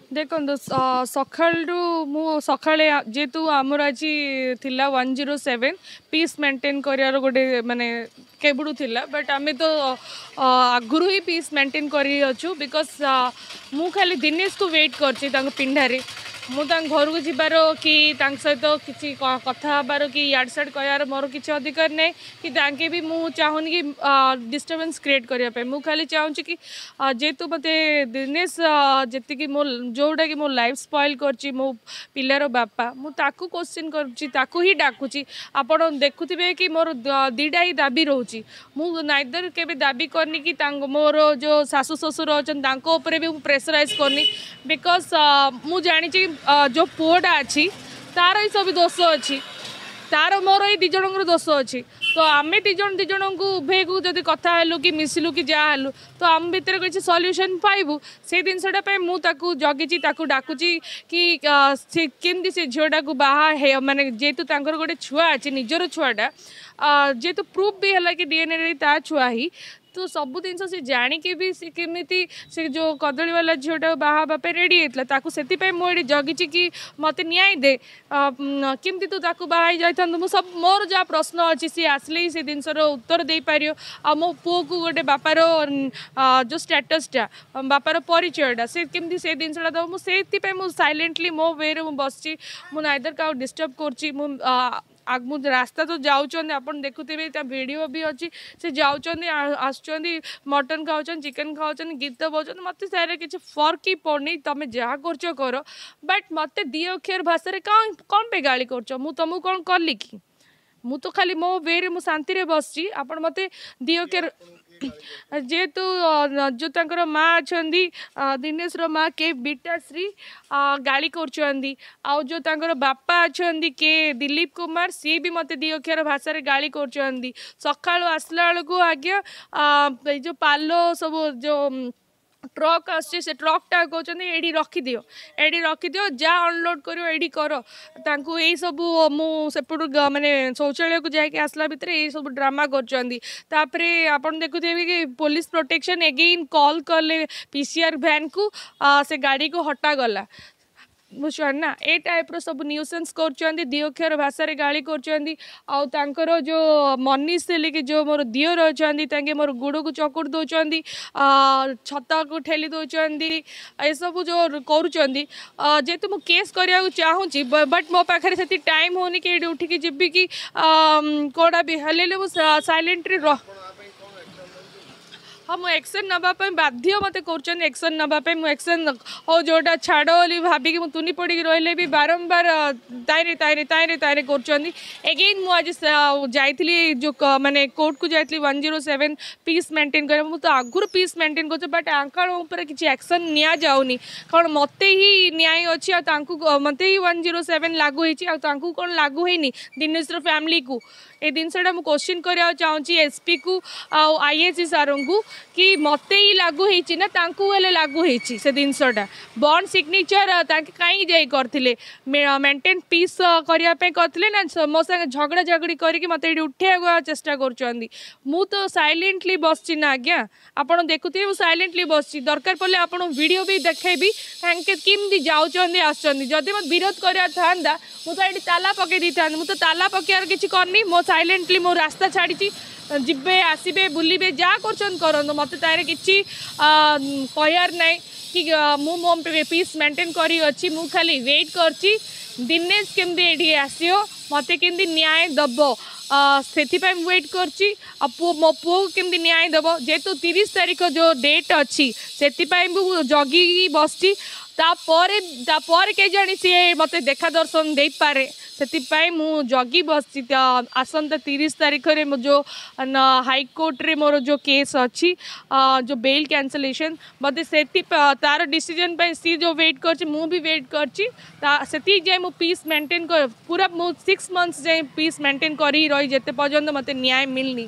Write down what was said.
ଦେଖନ୍ତୁ, ସକାଳୁ ମୁଁ ସକାଳେ ଯେହେତୁ ଆମର ଆଜି ଥିଲା 107 ପିସ୍ ମେଣ୍ଟେନ୍ କରିବାର ଗୋଟେ ମାନେ କେବେଠୁ ଥିଲା, ବଟ୍ ଆମେ ତ ଆଗରୁ ହିଁ ପିସ୍ ମେଣ୍ଟେନ୍ କରିଅଛୁ, because ମୁଁ ଖାଲି ଦିନେଶକୁ ୱେଟ୍ କରିଛି ତାଙ୍କ ପିଣ୍ଡାରେ। ମୁଁ ତାଙ୍କ ଘରକୁ ଯିବାର କି ତାଙ୍କ ସହିତ କିଛି କଥା ହେବାର କି ଇଆଡ଼େ ସିଆଡ଼େ କହିବାର ମୋର କିଛି ଅଧିକାର ନାହିଁ, କି ତାଙ୍କେ ବି ମୁଁ ଚାହୁଁନି କି ଡିଷ୍ଟର୍ବାନ୍ସ କ୍ରିଏଟ୍ କରିବା ପାଇଁ। ମୁଁ ଖାଲି ଚାହୁଁଛି କି ଯେହେତୁ ମୋତେ ଦିନେଶ ଯେତିକି ମୋ ଯେଉଁଟାକି ମୋ ଲାଇଫ୍ ସ୍ପଏଲ୍ କରିଛି, ମୋ ପିଲାର ବାପା, ମୁଁ ତାକୁ କୋଶ୍ଚିନ୍ କରୁଛି, ତାକୁ ହିଁ ଡାକୁଛି। ଆପଣ ଦେଖୁଥିବେ କି ମୋର ଦୁଇଟା ହିଁ ଦାବି ରହୁଛି। ମୁଁ ନାଇଦର କେବେ ଦାବି କରିନି କି ତାଙ୍କ ମୋର ଯେଉଁ ଶାଶୁ ଶ୍ୱଶୁର ଅଛନ୍ତି ତାଙ୍କ ଉପରେ ବି ମୁଁ ପ୍ରେସରାଇଜ୍ କରିନି, because ମୁଁ ଜାଣିଛି ଯେଉଁ ପୁଅଟା ଅଛି ତାର ହିଁ ସବୁ ଦୋଷ ଅଛି, ତାର ମୋର ଏଇ ଦୁଇ ଜଣଙ୍କର ଦୋଷ ଅଛି। ତ ଆମେ ଦୁଇ ଜଣ ଦୁଇ ଜଣଙ୍କୁ ଉଭୟକୁ ଯଦି କଥା ହେଲୁ କି ମିଶିଲୁ କି ଯାହା ହେଲୁ, ତ ଆମ ଭିତରେ କିଛି ସଲ୍ୟୁସନ୍ ପାଇବୁ। ସେଇ ଜିନିଷଟା ପାଇଁ ମୁଁ ତାକୁ ଜଗିଛି, ତାକୁ ଡାକୁଛି କି ସେ କେମିତି ସେ ଝିଅଟାକୁ ବାହା ହେ ମାନେ ଯେହେତୁ ତାଙ୍କର ଗୋଟେ ଛୁଆ ଅଛି, ନିଜର ଛୁଆଟା, ଯେହେତୁ ପ୍ରୁଫ୍ ବି ହେଲା କି ଡିଏନ୍ଏରେ ତା ଛୁଆ ହିଁ, ତ ସବୁ ଜିନିଷ ସେ ଜାଣିକି ବି ସେ କେମିତି ସେ ଯେଉଁ କଦଳୀବାଲା ଝିଅଟାକୁ ବାହା ହେବା ପାଇଁ ରେଡ଼ି ହେଇଥିଲା ତାକୁ। ସେଥିପାଇଁ ମୁଁ ଏଠି ଜଗିଛି କି ମୋତେ ନ୍ୟାୟ ଦେ, କେମିତି ତୁ ତାକୁ ବାହା ହେଇ ଯାଇଥାନ୍ତୁ। ମୁଁ ସବୁ ମୋର ଯାହା ପ୍ରଶ୍ନ ଅଛି ସିଏ ଆସିଲେ ହିଁ ସେ ଜିନିଷର ଉତ୍ତର ଦେଇପାରିବ, ଆଉ ମୋ ପୁଅକୁ ଗୋଟେ ବାପାର ଯେଉଁ ଷ୍ଟାଟସ୍ଟା, ବାପାର ପରିଚୟଟା ସେ କେମିତି ସେ ଜିନିଷଟା ଦେବ। ମୁଁ ସେଇଥିପାଇଁ ମୁଁ ସାଇଲେଣ୍ଟଲି ମୋ ୱେରେ ମୁଁ ବସିଛି। ମୁଁ ନାଇଦର କାହାକୁ ଡିଷ୍ଟର୍ବ କରୁଛି, ମୁଁ ରାସ୍ତା ତ ଯାଉଛନ୍ତି, ଆପଣ ଦେଖୁଥିବେ, ତା ଭିଡ଼ିଓ ବି ଅଛି, ସେ ଯାଉଛନ୍ତି ଆସୁଛନ୍ତି, ମଟନ୍ ଖାଉଛନ୍ତି, ଚିକେନ୍ ଖାଉଛନ୍ତି, ଗୀତ ଗାଉଛନ୍ତି। ମୋତେ ତାର କିଛି ଫର୍କ ହିଁ ପଡ଼ୁନି। ତମେ ଯାହା କରୁଛ କର, ବଟ୍ ମୋତେ ଦୁଇ ଅକ୍ଷର ଭାଷାରେ କ'ଣ ପାଇଁ ଗାଳି କରୁଛ? ମୁଁ ତମକୁ କ'ଣ କଲି କି? ମୁଁ ତ ଖାଲି ମୋ ୱେରେ ମୁଁ ଶାନ୍ତିରେ ବସିଛି, ଆପଣ ମୋତେ ଦୁଇ ଅକ୍ଷର। ଯେହେତୁ ଯେଉଁ ତାଙ୍କର ମା ଅଛନ୍ତି, ଦିନେଶର ମା କେ ବିଟାଶ୍ରୀ ଗାଳି କରୁଛନ୍ତି, ଆଉ ଯେଉଁ ତାଙ୍କର ବାପା ଅଛନ୍ତି କେ ଦିଲୀପ କୁମାର, ସିଏ ବି ମୋତେ ଦୁଇ ଅକ୍ଷର ଭାଷାରେ ଗାଳି କରୁଛନ୍ତି। ସକାଳୁ ଆସିଲା ବେଳକୁ ଆଜ୍ଞା ଏଇ ଯେଉଁ ପାଲ ସବୁ ଯେଉଁ ଟ୍ରକ୍ ଆସୁଛି, ସେ ଟ୍ରକ୍ଟା କହୁଛନ୍ତି ଏଇଠି ରଖିଦିଅ, ଏଇଠି ରଖିଦିଅ, ଯାହା ଅନଲୋଡ଼ କରିବ ଏଇଠି କର। ତାଙ୍କୁ ଏଇସବୁ ମୁଁ ସେପଟୁ ମାନେ ଶୌଚାଳୟକୁ ଯାଇକି ଆସିଲା ଭିତରେ ଏଇସବୁ ଡ୍ରାମା କରୁଛନ୍ତି। ତାପରେ ଆପଣ ଦେଖୁଥିବେ କି ପୋଲିସ ପ୍ରୋଟେକ୍ସନ୍ ଏଗେଇନ୍ କଲ୍ କଲେ PCR ଭ୍ୟାନ୍କୁ, ସେ ଗାଡ଼ିକୁ ହଟାଗଲା। ବୁଝୁଛନ୍ତି ନା, ଏ ଟାଇପ୍ର ସବୁ ନ୍ୟୁସେନ୍ସ କରୁଛନ୍ତି, ଦୁଇ ଅକ୍ଷର ଭାଷାରେ ଗାଳି କରୁଛନ୍ତି। ଆଉ ତାଙ୍କର ଯେଉଁ ମନୀଷ କି ଯେଉଁ ମୋର ଦିଅର ଅଛନ୍ତି, ତାଙ୍କେ ମୋର ଗୋଡ଼କୁ ଚକୁଡ଼ି ଦେଉଛନ୍ତି, ଛତାକୁ ଠେଲି ଦେଉଛନ୍ତି, ଏସବୁ ଯେଉଁ କରୁଛନ୍ତି। ଯେହେତୁ ମୁଁ କେସ୍ କରିବାକୁ ଚାହୁଁଛି, ବଟ୍ ମୋ ପାଖରେ ସେତିକି ଟାଇମ୍ ହେଉନି କି ଏଇଠି ଉଠିକି ଯିବି କି କେଉଁଟା ବି ହେଲେ ମୁଁ ସାଇଲେଣ୍ଟଲି ରହ। ହଁ, ମୁଁ ଆକ୍ସନ୍ ନେବା ପାଇଁ ବାଧ୍ୟ ମୋତେ କରୁଛନ୍ତି ଆକ୍ସନ୍ ନେବା ପାଇଁ। ମୁଁ ଆକ୍ସନ୍ ହଉ ଯେଉଁଟା ଛାଡ଼ ବୋଲି ଭାବିକି ମୁଁ ତୁନି ପଡ଼ିକି ରହିଲେ ବି ବାରମ୍ବାର ତାଇରେ ତାଇରେ ତାଇରେ ତାଇରେ କରୁଛନ୍ତି। ଏଗେଇନ୍ ମୁଁ ଆଜି ଯାଇଥିଲି ଯେଉଁ ମାନେ କୋର୍ଟକୁ ଯାଇଥିଲି 107 ପିସ୍ ମେଣ୍ଟେନ୍ କରିବା। ମୁଁ ତ ଆଗରୁ ପିସ୍ ମେଣ୍ଟେନ୍ କରୁଛି, ବଟ୍ ଆଙ୍କ ଉପରେ କିଛି ଆକ୍ସନ୍ ନିଆଯାଉନି। କ'ଣ ମୋତେ ହିଁ ନ୍ୟାୟ ଅଛି ଆଉ ତାଙ୍କୁ ମୋତେ ହିଁ 107 ଲାଗୁ ହେଇଛି, ଆଉ ତାଙ୍କୁ କ'ଣ ଲାଗୁ ହେଇନି ଦିନେଶର ଫ୍ୟାମିଲିକୁ? ଏ ଜିନିଷଟା ମୁଁ କୋଶ୍ଚିନ୍ କରିବାକୁ ଚାହୁଁଛି ଏସ୍ପିକୁ ଆଉ ଆଇଏସି ସାର୍ଙ୍କୁ କି ମୋତେ ହିଁ ଲାଗୁ ହେଇଛି ନା ତାଙ୍କୁ ହେଲେ ଲାଗୁ ହେଇଛି ସେ ଜିନିଷଟା? ବଣ୍ଡ ସିଗ୍ନେଚର୍ ତାଙ୍କେ କାହିଁକି ଯାଇ କରିଥିଲେ? ମେଣ୍ଟେନ୍ ପିସ୍ କରିବା ପାଇଁ କରିଥିଲେ ନା ମୋ ସାଙ୍ଗେ ଝଗଡ଼ା ଝଗଡ଼ି କରିକି ମୋତେ ଏଇଠି ଉଠେଇବାକୁ ଚେଷ୍ଟା କରୁଛନ୍ତି? ମୁଁ ତ ସାଇଲେଣ୍ଟଲି ବସିଛି ନା ଆଜ୍ଞା, ଆପଣ ଦେଖୁଥିବେ ମୁଁ ସାଇଲେଣ୍ଟଲି ବସିଛି। ଦରକାର ପଡ଼ିଲେ ଆପଣ ଭିଡ଼ିଓ ବି ଦେଖେଇବି, ତାଙ୍କେ କେମିତି ଯାଉଛନ୍ତି ଆସୁଛନ୍ତି। ଯଦି ମୋତେ ବିରୋଧ କରିବାର ଥାନ୍ତା ମୁଁ ତ ଏଇଠି ତାଲା ପକେଇ ଦେଇଥାନ୍ତି। ମୁଁ ତ ତାଲା ପକେଇବାର କିଛି କରିନି, ମୋ ସାଇଲେଣ୍ଟଲି ମୋ ରାସ୍ତା ଛାଡ଼ିଛି। ଯିବେ ଆସିବେ ବୁଲିବେ ଯାହା କରୁଛନ୍ତି କରନ୍ତୁ, ମୋତେ ତାର କିଛି କହିବାର ନାହିଁ କି ମୁଁ ମୋ ପିସ୍ ମେଣ୍ଟେନ୍ କରିଅଛି। ମୁଁ ଖାଲି ୱେଟ୍ କରିଛି ଦିନେଶ କେମିତି ଏଇଠି ଆସିବ, ମୋତେ କେମିତି ନ୍ୟାୟ ଦେବ, ସେଥିପାଇଁ ମୁଁ ୱେଟ୍ କରିଛି। ଆଉ ପୁଅ ମୋ ପୁଅକୁ କେମିତି ନ୍ୟାୟ ଦେବ, ଯେହେତୁ 30 ତାରିଖ ଯେଉଁ ଡେଟ୍ ଅଛି ସେଥିପାଇଁ ମୁଁ ଜଗିକି ବସିଛି। ତାପରେ କେଜାଣି ସିଏ ମୋତେ ଦେଖା ଦର୍ଶନ ଦେଇପାରେ, ସେଥିପାଇଁ ମୁଁ ଜଗି ବସିଛି। ଆସନ୍ତା 30 ତାରିଖରେ ମୋ ଯେଉଁ ହାଇକୋର୍ଟରେ ମୋର ଯେଉଁ କେସ୍ ଅଛି, ଯେଉଁ ବେଲ୍ କ୍ୟାନସଲେସନ୍, ମୋତେ ସେଠି ତାର ଡିସିଜନ୍ ପାଇଁ ସିଏ ଯେଉଁ ୱେଟ୍ କରିଛି ମୁଁ ବି ୱେଟ୍ କରିଛି। ତା ସେତିକି ଯାଏଁ ମୁଁ ପିସ୍ ମେଣ୍ଟେନ୍ ପୁରା ମୁଁ 6 ମନ୍ଥସ୍ ଯାଏଁ ପିସ୍ ମେଣ୍ଟେନ୍ କରି ରହି, ଯେତେ ପର୍ଯ୍ୟନ୍ତ ମୋତେ ନ୍ୟାୟ ମିଳିନି।